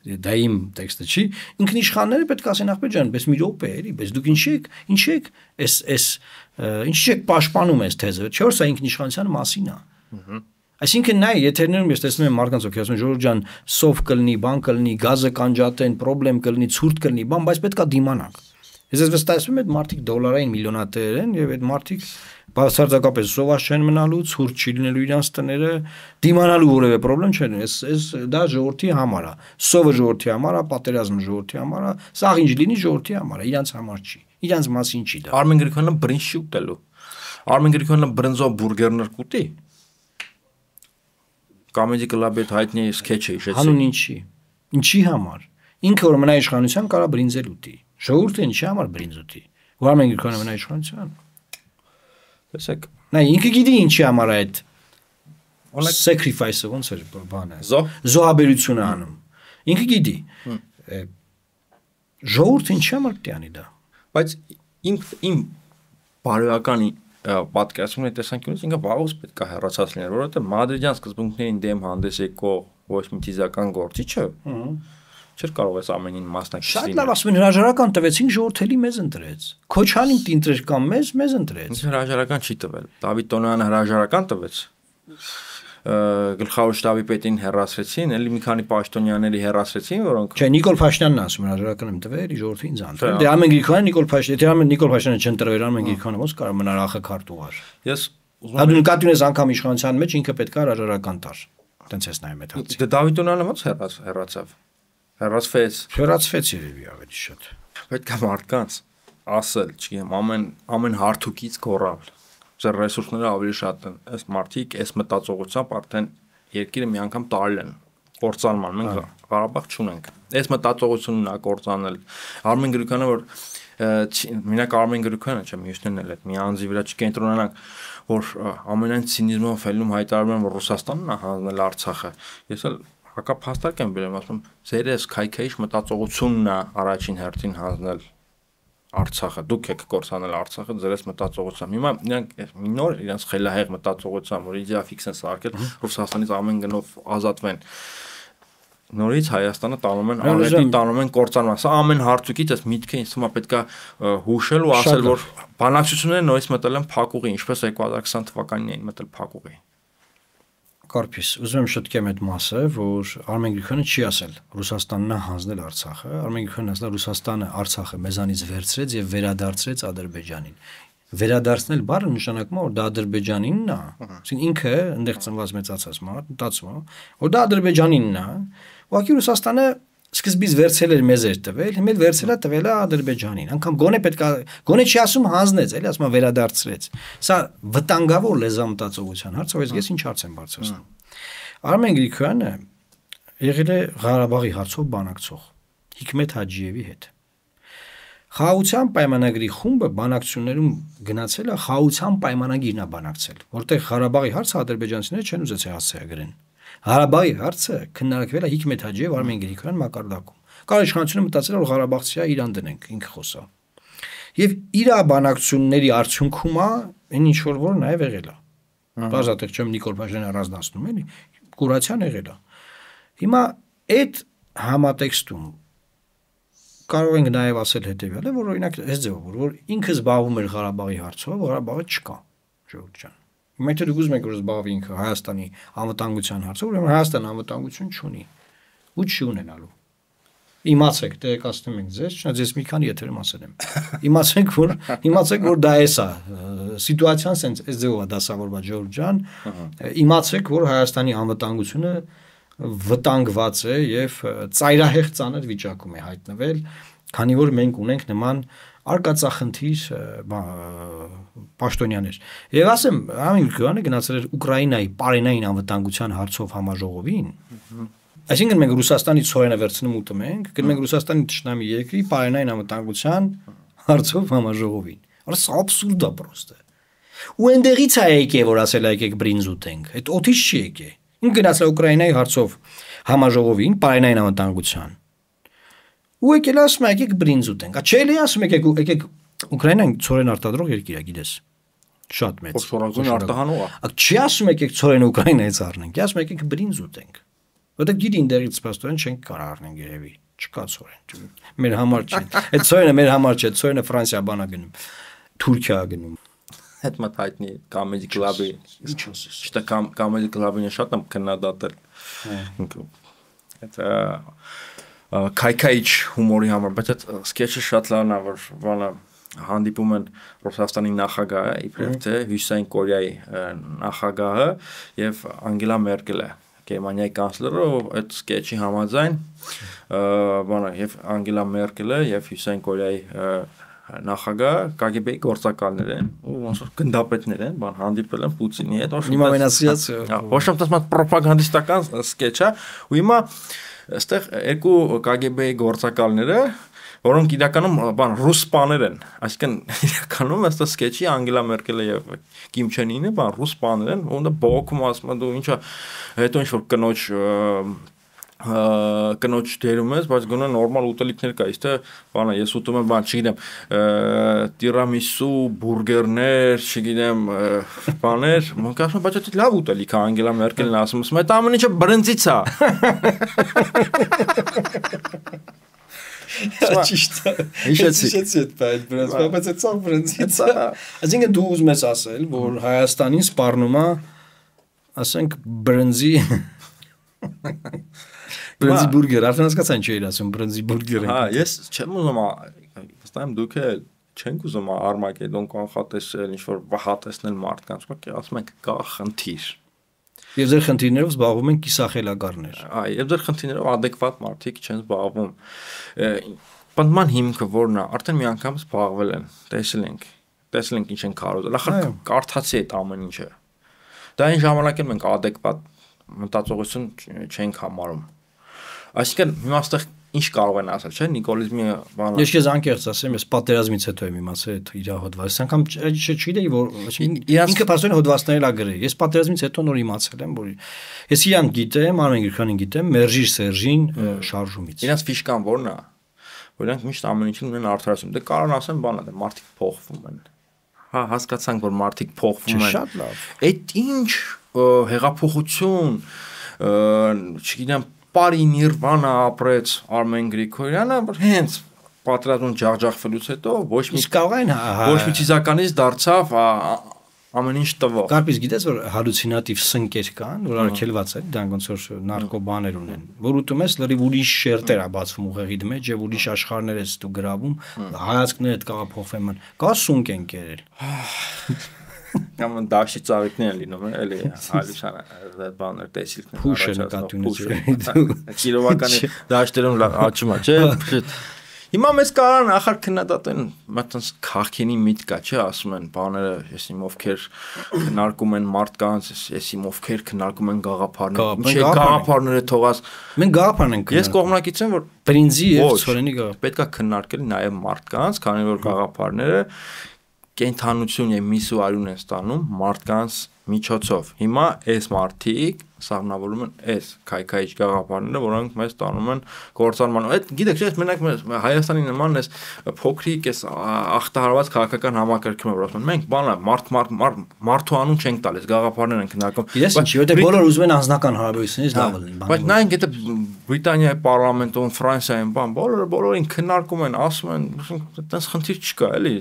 դա իմ տեքստը չի ինքնիշխանները պետք է ասեն ախպեջան բայց մի րոպե էլի բայց դուք ինչ եք ինչ եք էս էս ինչ եք պաշտպանում այս թեզը չէ՞ որ սա ինքնիշխանության մասին է այսինքն նայ եթերներում ես տեսնում եմ մարդկանց ովքեր ասում են Ժորժ ջան սով կլինի բան կլինի գազը կանջատեն պրոբլեմ կլինի ցուրտ կլինի բան բայց պետք է դիմանանք ես ես վստահեցնում եմ այդ մարդիկ դոլարային միլիոնատեր են եւ այդ մարդիկ բացարձակապես սովաշ չեն մնալու, ցուրտ չի լինելու իրանց տները, դիմանալու որևէ պրոբլեմ չեն, այս այս դա ժողովրդի համար է, սովը ժողովրդի համար է, պատերազմը ժողովրդի համար է, սաղ ինչ լինի ժողովրդի համար է, իրանց համար չի, իրանց մասին չի դա։ Արմեն Գրիգորյանը բրինձ չի ուտելու։ Արմեն Գրիգորյանը բրինձով բուրգերներ կուտի։ Կոմեդի կլաբի հետ հայտնի սքեթչը հիշեցի։ Հանուն ինչի։ Ինչի համար։ Ինքը որ մնա իշխանության կարա բրինձել ուտի։ Ժողովուրդը ինչի համար բրինձ ուտի։ Արմեն Գրիգորյանը մնա իշխանության։ Տեսեք, նա ինքը գիտի ինչի համար է այդ sacrifice-ը ոնց է բանը։ Զոհաբերությունը անում։ Ինքը գիտի։ Ժողովուրդը ինչի համար տանի դա։ Բայց իմ իմ բարոյական պատկերացումն է տեսանկյունից ինքը վաղուց պետք է հեռացած լիներ, որովհետև մադրիդյան սկզբունքներին դեմ հանդես եկող ոչ մի թիզական գործիչը չէր կարող այս ամենին մասնակից լինել։ Շատ լավ ասում են հրաժարական տվեցին ժողովրդելի մեզ ընտրեց։ Քոչանին դինտրեր կամ մեզ մեզ ընտրեց։ Հրաժարական չի տվել։ Դավիթ Տոնոյանը հրաժարական տվեց։ Գլխավոր շտաբի պետին հեռացրեցին, ելի մի քանի պաշտոնյաների հեռացրեցին, որոնք Չէ, Նիկոլ Փաշինյանն ասում հրաժարական եմ տվել, ժողովրդին ինձ ընտրել։ Դե Արմեն Գրիգորյանը Նիկոլ Փաշինյանը, եթե Արմեն Նիկոլ Փաշինյանը չընտրվեր, Արմեն Գրիգորյանը ոնց կարող մնար ախը քարտուղար։ Ես Հա դու նկատի ունես անգամ իշխանության մեջ ինքը պետք է հրաժարական տար։ Տենց էս նայում այդ հացի։ Դե Դավիթ Տոնոյանը ոնց հեռացավ։ Հեռացավ։ Հեռացվեց։ Հեռացվեց երևի ավելի շատ։ Պետք է մարդկանց։ ասել, չգիտեմ, ամեն ամեն հարթուկից կորալ։ Ձեր ռեսուրսները ավելի շատ են։ Այս մարդիկ այս մտածողությամբ արդեն երկիրը մի անգամ տարել են կործանման, մենք Ղարաբաղ չունենք։ Այս մտածողությունն է կործանել։ Արմեն Գրիգորյանը որ մենակ Արմեն Գրիգորյանը չէ, մյուսներն էլ այդ մի անձի վրա չկենտրոնանանք, որ ամենայն ցինիզմով ֆելում հայտարարում են, որ Ռուսաստանն է հանձնել Արցախը։ Ես էլ հակափաստարկ եմ բերում, ասում եմ, ձեր այս քայքայիչ մտածողությունն է առաջին հերթին հանձնել Արցախը, դուք եք կորցանել Արցախը ձեր այս մտածողությամբ։ Հիմա նրանք մի նոր իրենց խելահեղ մտածողությամբ, որ իդեաֆիքս են սարքել, Ռուսաստանից ամեն գնով ազատվեն։ Նորից Հայաստանը տանում են, արետի տանում են կորցանման։ Սա ամեն հարցուկից այս միտքը ինձ թվում է պետք է հուշել ու ասել, որ բանակցությունները նորից մտել են փակուղի, ինչպես երկու հազար քսան թվականին էին մտել փակուղի։ Կարպիս, ուզում եմ շտկեմ այդ մասը, որ Արմեն Գրիգորյանը չի ասել Ռուսաստանն է հանձնել Արցախը, Արմեն Գրիգորյանը ասել Ռուսաստանը Արցախը մեզանից վերցրեց եւ վերադարձրեց Ադրբեջանին։ Վերադարձնել բառը նշանակում է, որ դա Ադրբեջանինն է, այսինքն ինքը այնտեղ ծնված մեծացած մարդ, մտածում է, որ դա Ադրբեջանինն է, ուղղակի Ռուսաստանը սկզբից վերցել էր մեզ էր տվել, հիմա էլ վերցել է տվել է Ադրբեջանին։ Անկամ գոնե պետք է գոնե չի ասում հանձնեց, էլի ասում է վերադարձրեց։ Սա վտանգավոր լեզվամտածողության հարց, ով ես ինչ հարց եմ բարձրացնում։ Արմեն Գրիգորյանը եղել է Ղարաբաղի հարցով բանակցող Հիկմետ Հաջիևի հետ։ Խաղաղության պայմանագրի խումբը բանակցություններում գնացել է խաղաղության պայմանագիրն է բանակցել, որտեղ Ղարաբաղի հարցը ադրբեջանցիները չեն ուզեցել հասցեագրեն։ Ղարաբաղի հարցը քննարկվել է Հիկմետ Հաջիև Արմեն Գրիգորյան մակարդակում։ Կարող իշխանությունը մտածել որ Ղարաբաղցի է իրան դնենք, ինքը խոսա։ Եվ իր բանակցությունների արդյունքում է այն ինչ որ որ նաև եղել է։ Բազատեղ չեմ Նիկոլ Փաշինյանը առանձնացնում էլի, կուրացիան եղել է։ Հիմա այդ համատեքստում կարող ենք նաև ասել հետևյալը, որ օրինակ այս ձևով որ ինքը զբաղվում էր Ղարաբաղի հարցով, Ղարաբաղը չկա, ժողովուրդ ջան։ Հիմա եթե դուք ուզում եք որ զբաղվի ինքը Հայաստանի անվտանգության հարցով, ուրեմն Հայաստանը անվտանգություն չունի ու չի ունենալու։ Իմացեք, տեղեկացնում ենք ձեզ, չնայած ես մի քանի եթերում ասել եմ։ Իմացեք, որ իմացեք, որ դա էս է, սիտուացիան sense այս ձևով է դասավորված ժողովուրդ ջան։ Իմացեք, որ Հայաստանի անվտանգությունը վտանգված է եւ ծայրահեղ ծանր վիճակում է հայտնվել, քանի որ մենք ունենք նման արկածախնդիր պաշտոնյաներ։ Եվ ասեմ, Արմեն Գրիգորյանը գնացել էր Ուկրաինայի պարենային անվտանգության հարցով համաժողովին։ Այսինքն մենք Ռուսաստանից ցորենը վերցնում ուտում ենք, գնում ենք Ռուսաստանի ճշնամի երկրի պարենային անվտանգության հարցով համաժողովին։ Արա սա աբսուրդ է պրոստը։ Ու այնտեղից է եկե որ ասել եկեք բրինձ ուտենք։ Այդ օթից չի եկե։ Ինքը գնացել Ուկրաինայի հարցով համաժողովին պարենային անվտանգության։ Ու եկել ասում եկեք բրինձ ուտենք։ Չէ՞ էլի ասում եկեք եկեք Ուկրաինան ցորեն արտադրող երկիր է, գիտես։ Շատ մեծ։ Փոշորագույն արտահանող է։ Չի ասում եկեք ցորենը Ուկրաինայից առնենք, ասում եկեք բրինձ ուտենք։ Որտեղ գիտի ինդերից սպաստորեն չենք կարող առնենք երևի։ Չկա ցորեն։ Մեր համար չի։ Այդ ցորենը մեր համար չէ, ցորենը Ֆրանսիա բանա գնում։ Թուրքիա գնում։ Այդ մտ հայտնի Comedy Club-ի։ Ինչ ասես։ Չտա Comedy Club-ին շատ եմ քննադատել։ Այդ քայքայիչ հումորի համար, բայց այդ սկեչը շատ լավն է, որ բանը հանդիպում են Ռուսաստանի նախագահը, իբրև թե Հյուսիսային Կորեայի նախագահը եւ Անգելա Մերկելը, Գերմանիայի կանցլերը, այդ սկեչի համաձայն բանը եւ Անգելա Մերկելը եւ Հյուսիսային Կորեայի նախագահը Կ Գ B-ի գործակալներ են, ու ոնց որ գնդապետներ են, բան հանդիպել են Պուտինի հետ, Հիմա մենասիած ոչ թե ասած պրոպագանդիստական սկեչ է, ու հիմա այստեղ երկու Կ Գ B-ի գործակալները, որոնք իրականում բան ռուս սպաներ են, այսինքն իրականում այստեղ սկեչի Անգելա Մերկելը եւ Կիմ Չեն Ինը բան ռուս սպաներ են, ու դա բողոքում ասում են դու ինչա հետո ինչ որ կնոջ կնոջ դերում ես, բայց գոնե նորմալ ուտելիքներ կա, իսկ թե բանը ես ուտում եմ, բան չգիտեմ, տիրամիսու, բուրգերներ, չգիտեմ, բաներ, մենք ասում ենք, բայց դա լավ ուտելիք է, Անգելա Մերկելն ասում է, այդ ամեն ինչը բրնձից է։ Ճիշտ է։ Հիշեցի այդ բայց բրնձ, բայց այդ ցավ բրնձից է։ Այսինքն դու ուզում ես ասել, որ Հայաստանին սպառնում է, ասենք բրնձի Բրնձի բուրգեր, արդեն հասկացան չի իր ասում բրնձի բուրգեր։ Հա, ես չեմ ուզում, վստահ եմ դուք էլ չենք ուզում Արմագեդոն կանխատեսել, ինչ որ վհատեսնել մարդկանց, ոք ասում ենք կա խնդիր։ Եվ ձեր խնդիրներով զբաղվում են կիսախելագարներ։ Այ, եւ ձեր խնդիրներով adekvat մարդիկ չեն զբաղվում։ Պնդման հիմքը որն է, արդեն մի անգամ զբաղվել են, տեսել ենք, տեսել ենք ինչ են կարողել, ախր կարդացի այդ ամեն ինչը։ Դա այն ժամանակ էլ մենք adekvat մտածողություն չենք համարում։ Այսինքն հիմա այստեղ ինչ կարող են ասել, չէ՞, նիկոլիզմի բանը։ Ես քեզ անկեղծ ասեմ, ես պատերազմից հետո եմ իմացել այդ իր հոդվածը, անգամ չգիտեի, որ ինքը փաստորեն հոդվածներն ա գրել։ Ես պատերազմից հետո նոր իմացել եմ, որ ես իրան գիտեմ, Արմեն Գրիգորյանին գիտեմ, Մերժիր Սերժին շարժումից։ Իրանց ֆիշկան որն է, որ իրանք միշտ ամեն ինչին ունեն արդարացում։ Դե կարող ասեմ բանը, դե մարդիկ փոխվում են։ Հա, հասկացանք, որ մարդիկ փոխվում են։ Շատ լավ։ Այդ ինչ հեղափոխություն, չգիտեմ, Պարի Նիրվանա ապրեց Արմեն Գրիգորյանը, հենց պատերազմում ջախջախվելուց հետո ոչ մի կարող են ոչ մի ցիզականից դարձավ ամեն ինչ տվող։ Կարպից գիտես, որ հալյուցինատիվ սնկեր կան, որ արգելված է, դրանք ոնց որ նարկոբաներ ունեն, որ ուտում ես լրիվ ուրիշ շերտեր է բացվում ուղեղիդ մեջ եւ ուրիշ աշխարհներ ես դու գրավում, հայացքներդ կարող փոխվեն, կա սունկ են կերել։ Կամ դաշի ծաղիկներ են լինում, էլի հալյուսան այդ բաներ տեսիլքներ։ Փուշը նկատի ունեցել։ Կիլովականի դաշտերում աճում է, չէ՞։ Հիմա մեզ կարան ախր քննադատեն, մտած քաղքենի միտք կա, չէ՞, ասում են բաները, ես իմ ովքեր քննարկում են մարդկանց, ես իմ ովքեր քննարկում են գաղափարներ։ Ինչ է գաղափարները թողած։ Մենք գաղափարն ենք։ Ես կողմնակից եմ, որ Պրինցի եւ Ցորենի գաղափար պետք է քննարկել նաեւ մարդկանց, քանի որ գաղափարները կենթանություն եւ միսու արյուն են ստանում մարդկանց միջոցով։ Հիմա այս մարդիկ սառնավորում են այս քայքայիչ գաղափարները, որոնք մեզ տանում են գործարման։ Այդ գիտեք, չէ՞, մենակ Հայաստանի նման էս փոքրիկ էս ախտահարված քաղաքական համակարգում է, որ ասում են մենք բանը մարդ մարդու անուն չենք տալիս, գաղափարներ են քննարկում։ Ես ինչի, որտեղ բոլորը ուզում են անձնական հարաբերությունից լավ լինեն։ Բայց նայենք այդ Բրիտանիայի պարլամենտում, Ֆրանսիայում բան, բոլորը բոլորին քննարկում են, ասում են, այդպես խնդիր չկա, էլի։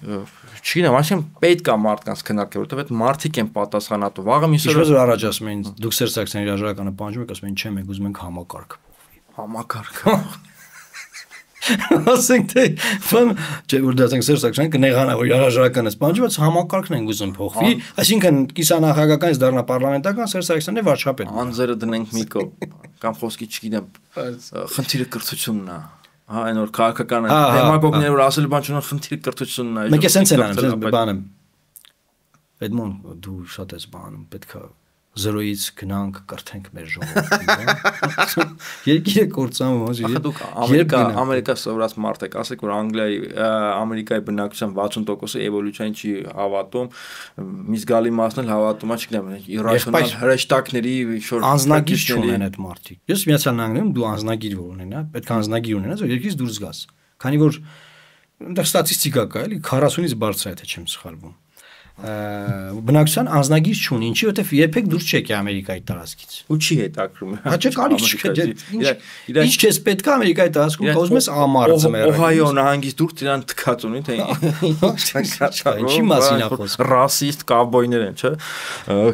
Չգիտեմ, այսինքն պետք է մարդկանց քննարկել, որովհետև այդ մարդիկ են պատասխանատու։ Վաղը միսը Ինչպես որ առաջ ասում էին, դուք Սերժ Սարգսյանի հրաժարականը պահանջում եք, ասում են, չէ, մենք ուզում ենք համակարգ փոխվի։ Համակարգ։ Ասենք թե ֆան, չէ, որ դա ասենք Սերժ Սարգսյանը կնեղանա, որ հրաժարականը պահանջում, բայց համակարգն են ուզում փոխվի, այսինքն կիսանախագահականից դառնա պարլամենտական Սերժ Սարգսյանն է վարչապետ։ Անձերը դնենք մի կողմ, կամ խոսքի չգիտեմ, խնդիրը կրթությունն է։ Հա, այն որ քաղաքական դեմագոգները որ ասել բան չունեն, խնդիրը կրթությունն է։ Մենք էսենց են անում, բանը։ Էդմոն, դու շատ ես բանում, պետք է զրոյից գնանք կրթենք մեր ժողովրդին։ Երկիրը կործանում ոնց է։ Դուք Ամերիկա, Ամերիկա սովորած մարդ եք, ասեք որ Անգլիայի, Ամերիկայի բնակչության վաթսուն տոկոսը էվոլյուցիային չի հավատում, մի զգալի մասն էլ հավատում է, չգիտեմ, իրացիոնալ հրեշտակների շոր անձնագիր չունեն այդ մարդիկ։ Ես Միացյալ Նահանգներում դու անձնագիր որ ունենա, պետք է անձնագիր ունենաս, որ երկրից դուրս գաս։ Քանի որ այնտեղ ստատիստիկա կա, էլի քառասունից բարձր է, թե չեմ սխալվում։ Բնակչության անձնագիր չունի, ինչի որտեվ երբեք դուրս չեք Ամերիկայի տարածքից։ Ու չի հետաքրում։ Հա չէ, կարիք չկա։ Ինչ քեզ պետք է Ամերիկայի տարածքում, կա ուզում ես ամառը ծմերը։ Օհայո նահանգից դուրս իրան թքած ունի, թե ինչի մասին է խոսքը։ Ռասիստ կավբոյներ են, չէ՞։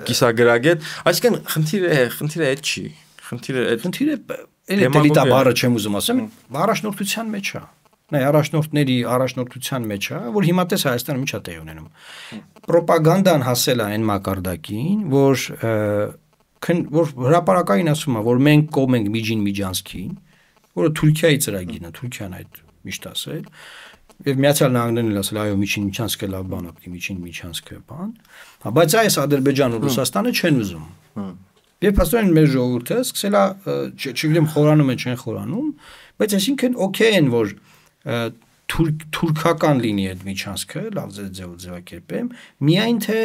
Կիսագրագետ, այսինքն խնդիրը է, խնդիրը այդ չի։ Խնդիրը այդ խնդիրը էլիտա բառը չեմ ուզում ասեմ, առաջնորդության մեջ է։ Նայ առաջնորդների առաջնորդության մեջ է, որ հիմա տես Հայաստանում ինչ է տեղ ունենում։ Պրոպագանդան հասել է այն մակարդակին, որ որ հրապարակային ասում է, որ մենք կողմ ենք Միջին Միջանցքին, որը Թուրքիայի ծրագիրն է, Թուրքիան այդ միշտ ասել, եւ Միացյալ Նահանգներն էլ ասել, այո, Միջին Միջանցքը լավ բան է, Միջին Միջանցքը բան, բայց այս Ադրբեջանն ու Ռուսաստանը չեն ուզում։ Եվ փաստորեն մեր ժողովուրդը սկսել է, չգիտեմ, խորանում են, չեն խորանում, բայց այսինքն օքեյ են, որ թուրքական լինի այդ միջանցքը, լավ ձեւ ձևակերպեմ, միայն թե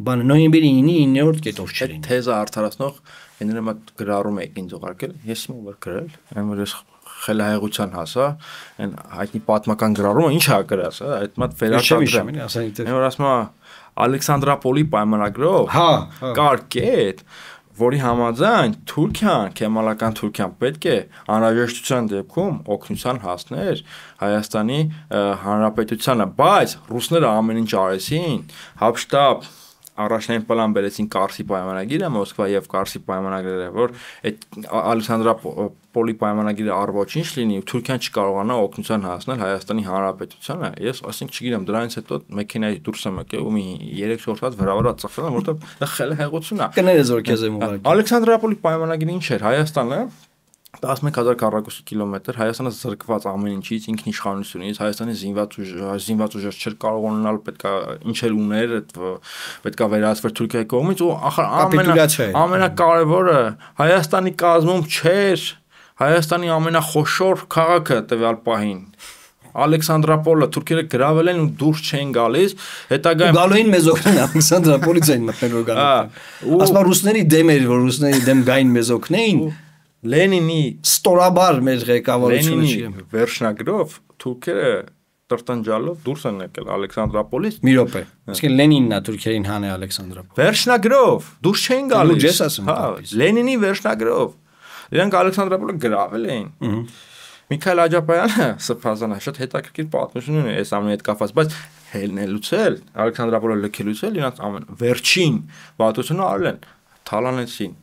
բան նոյեմբերի ինը-իններորդ կետով չլինի։ Թեզը արդարացնող էներմա գրառում եք ինձ ուղարկել, ես իմը որ գրել, այն որ ես խելահեղության հասա, այն հայտնի պատմական գրառումը ինչ է գրած, այդ մատ վերարտադրեմ։ Այն որ ասում է Ալեքսանդրապոլի պայմանագրով, հա, կար կետ, որի համաձայն Թուրքիան, Քեմալական Թուրքիան պետք է անհրաժեշտության դեպքում օգնության հասներ Հայաստանի Հանրապետությանը, բայց ռուսները ամեն ինչ արեցին, Հապշտաբ առաջնային պլան բերեցին Կարսի պայմանագիրը, Մոսկվա եւ Կարսի պայմանագրերը, որ այդ Ալեքսանդրապոլի պայմանագիրը առ-ոչինչ լինի, Թուրքիան չկարողանա օգնության հասնել Հայաստանի Հանրապետությանը։ Ես ասենք չգիտեմ, դրանից հետո մեքենայի դուրս եմ եկել ու մի երեք շորտած վրավարա ծխել, որովհետեւ դա խելահեղություն է։ Կներես որ քեզ եմ ուղարկել։ Ալեքսանդրապոլի պայմանագիրը ինչ էր, Հայաստանը տասնմեկ հազար քառակուսի կիլոմետր Հայաստանը զրկված ամեն ինչից, ինքնիշխանությունից, Հայաստանի զինված ուժ զինված ուժեր չէր կարող ունենալ, պետքա ինչ էլ ուներ, պետքա վերահսկվեր Թուրքիայի կողմից ու ախր ամենակարևորը Հայաստանի կազմում չէր Հայաստանի ամենախոշոր քաղաքը տվյալ պահին Ալեքսանդրապոլը թուրքերը գրավել են ու դուրս չեն գալիս, հետագայում գալու մեզ օգնեն Ալեքսանդրապոլից են մտնել որ գալու։ Ասма ռուսների դեմ էր, որ ռուսների դեմ գային մեզ օգնեին, Լենինի ստորաբար մեր ղեկավարությունը չի։ Վերջնագրով թուրքերը տրտանջալով դուրս են եկել Ալեքսանդրապոլից։ Մի րոպե։ Իսկ Լենինն է թուրքերին հանել Ալեքսանդրապոլ։ Վերջնագրով դուրս չեն գալիս։ Ես ասում եմ։ Լենինի վերջնագրով։ Իրանք Ալեքսանդրապոլը գրավել էին։ Միքայել Աջապայանը սփազանա շատ հետաքրքիր պատմություն ունի այս ամենի հետ կապված, բայց հելնելուց էլ Ալեքսանդրապոլը լքելուց էլ իրանք ամեն վերջին վատությունը արել են, թալանեցին,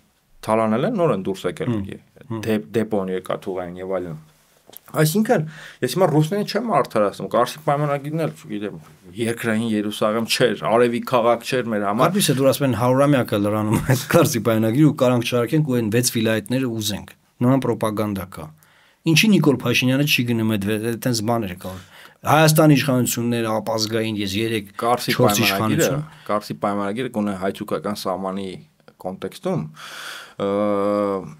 թալանել են, նոր են դուրս եկել դեպոն երկաթուղային եւ այլն։ Այսինքն, ես հիմա ռուսներին չեմ արդարացնում, Կարսի պայմանագիրն էլ, չգիտեմ, երկրային Երուսաղեմ չէր, արևի քաղաք չէր մեր համար։ Կարծես է դուր ասում են հարյուրամյակը լրանում այդ Կարսի պայմանագիրը ու կարանք չարքենք ու այն վեց վիլայետները ուզենք։ Նման ռոպագանդա կա։ Ինչի Նիկոլ Փաշինյանը չի գնում այդ այդտենց բաներ կա։ Հայաստանի իշխանությունները ապազգային ես երեք Կարսի պայմանագիրը, Կարսի պայմանագիրը գոնե հայ-թուրքական սահմանի կոնտեքստում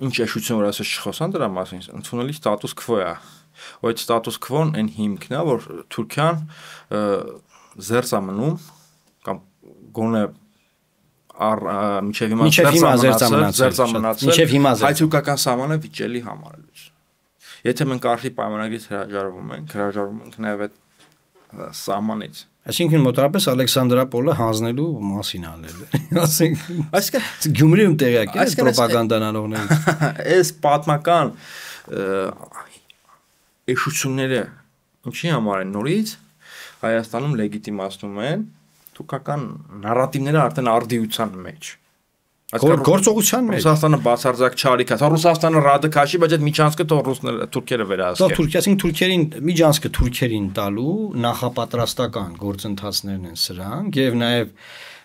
ինչ էշություն որ ասես չխոսան դրա մասին, ընդունելի ստատուս քվո է։ Ու այդ ստատուս քվոն այն հիմքն է, որ Թուրքիան զերծ է մնում կամ գոնե առ միջև հիմա զերծ է մնացել հայ-թուրքական սահմանը վիճելի համարելուց։ Եթե մենք Կարսի պայմանագրից հրաժարվում ենք, հրաժարվում ենք նաև այդ սահմանից։ Այսինքն մոտավորապես Ալեքսանդրապոլը հանձնելու մասին անել է։ Այսինքն Գյումրիում տեղյակ է ռոպագանդան անողներից։ Այս պատմական էշությունները ինչի համար են նորից Հայաստանում լեգիտիմացնում են թուրքական նարատիվները արդեն արդիության մեջ։ Գործողության մեջ Ռուսաստանը բացարձակ չարիք է, Ռուսաստանը ռադիկաշի, բայց այդ միջանցքը թող ռուսները թուրքերը վերահսկեն։ Թող Թուրքիային թուրքերին միջանցքը թուրքերին տալու նախապատրաստական գործընթացներն են սրանք եւ նաեւ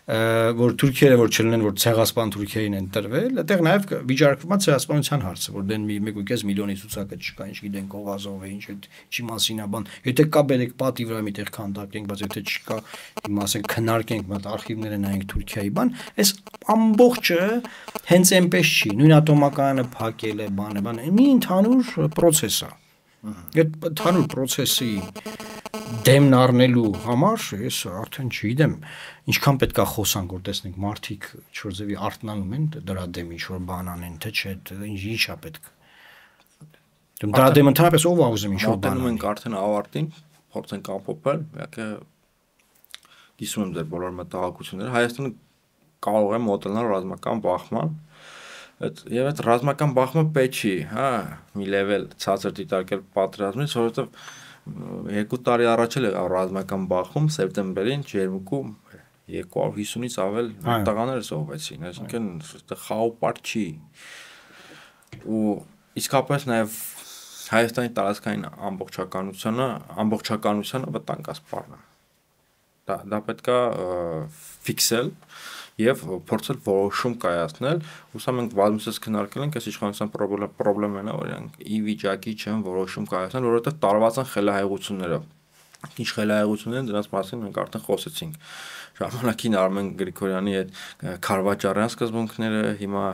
որ թուրքերը որ չլինեն որ ցեղասպան թուրքերին են տրվել, այդտեղ նաեւ վիճարկվում է ցեղասպանության հարցը, որ դեն մի մեկ ու կես միլիոնի ցուցակը չկա, ինչ գիտեն Կողազով է, ինչ չի մասին է բան։ Եթե կա բերեք պատի վրա միտեղ քանդակենք, բայց եթե չկա, հիմա ասենք քննարկենք, մատ արխիվները նայենք Թուրքիայի բան, այս ամբողջը հենց այնպես չի, նույն ատոմակայանը փակել է, բան է, բան է, մի ընդհանուր process է։ Այդ ընդհանուր process-ի դեմն առնելու համար ես արդեն չգիտեմ ինչքան պետք է խոսանք որ տեսնենք մարդիկ ինչ-որ ձևի արթնանում են դրա դեմ ինչ-որ բան անեն թե չէ ինչ է պետք դրա դեմ ընդհանրապես ով է ուզում ինչ-որ բան անեն ենք արդեն ավարտին փորձենք ամփոփել իհարկե գիսում եմ ձեր բոլոր մտահոգությունները Հայաստանը կարող է մոտենալ ռազմական բախման եւ այդ ռազմական բախումը պետք չի հա մի level ցածր դիտարկել պատերազմից որովհետեւ երկու տարի առաջ էլ եղավ ռազմական բախում սեպտեմբերին Ջերմուկում երկու հարյուր հիսունից ավել տղաներ զոհվեցին, այսինքն այդտեղ խաղապարտ չի։ Ու իսկապես նաև Հայաստանի տարածքային ամբողջականությունը, ամբողջականությունը վտանգասպառն է։ Դա դա պետք է ֆիքսել եւ փորձել որոշում կայացնել, ու սա մենք բազմիցս քննարկել ենք, այս իշխանության խնդիրն է, որ իրանք ի վիճակի չեն որոշում կայացնել, որովհետեւ տարված են խելահեղությունները։ Ինչ խելահեղություններ են, դրանց մասին մենք արդեն խոսեցինք։ Ժամանակին Արմեն Գրիգորյանի այդ Քարվաճարյան սկզբունքները, հիմա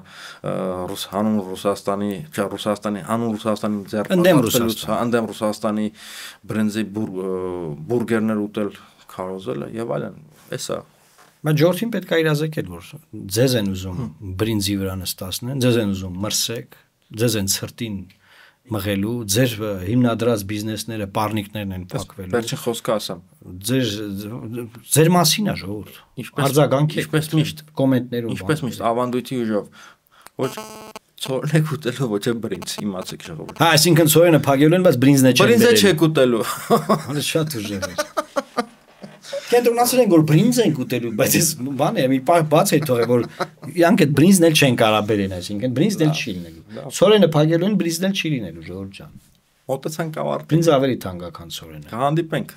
ռուս հանուն Ռուսաստանի, չէ, Ռուսաստանի հանուն Ռուսաստանի ձեռնարկատվելուց, ընդդեմ Ռուսաստանի բրենզի բուրգերներ ուտել քարոզելը եւ այլն, էսա Բայց Ջորթին պետք է իրազեկել, որ ձեզ են ուզում բրինձի վրա նստացնեն, ձեզ են ուզում մրսեք, ձեզ են ցրտին մղելու, ձեր հիմնադրած բիզնեսները, պառնիկներն են փակվելու։ Վերջին խոսքը ասեմ։ Ձեր ձեր մասին է ժողովուրդ։ Արձագանք ինչպես միշտ կոմենտներում։ Ինչպես միշտ ավանդույթի ուժով։ Ոչ ցորեն ուտելու, ոչ բրինձ, իմացեք ժողովուրդ։ Հա, այսինքն ցորենը փակելու են, բայց բրինձն է չեն բերել։ Բրինձը չեք ուտելու։ Հələ շատ ուժեղ է։ Կենտրոնացել են որ բրինձ են ուտելու, բայց այս բան է, մի բաց է թողել որ իրանք այդ բրինձն էլ չեն կարող բերեն, այսինքն բրինձն էլ չի լինելու։ Ցորենը փակելու են, բրինձն էլ չի լինելու, ժողովուրդ ջան։ Մոտեցանք ավարտ։ Բրինձը ավելի թանկական ցորենը։ Կհանդիպենք։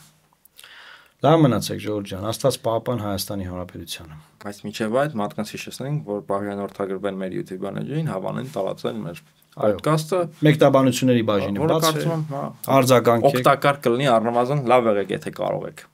Լավ մնացեք Ժորժ ջան, Աստված պահապան Հայաստանի Հանրապետությանը։ Բայց միջև այդ մարդկանց հիշեցնենք, որ բարեհանորդագրվեն մեր YouTube բանջին, հավանեն տարածել մեր podcast-ը, մեկտաբանությունների բաժինը բաց է, կարծում եմ, արձագանքեք, օգտակար կլինի առնվազն լավ եղեք, եթե կարող եք։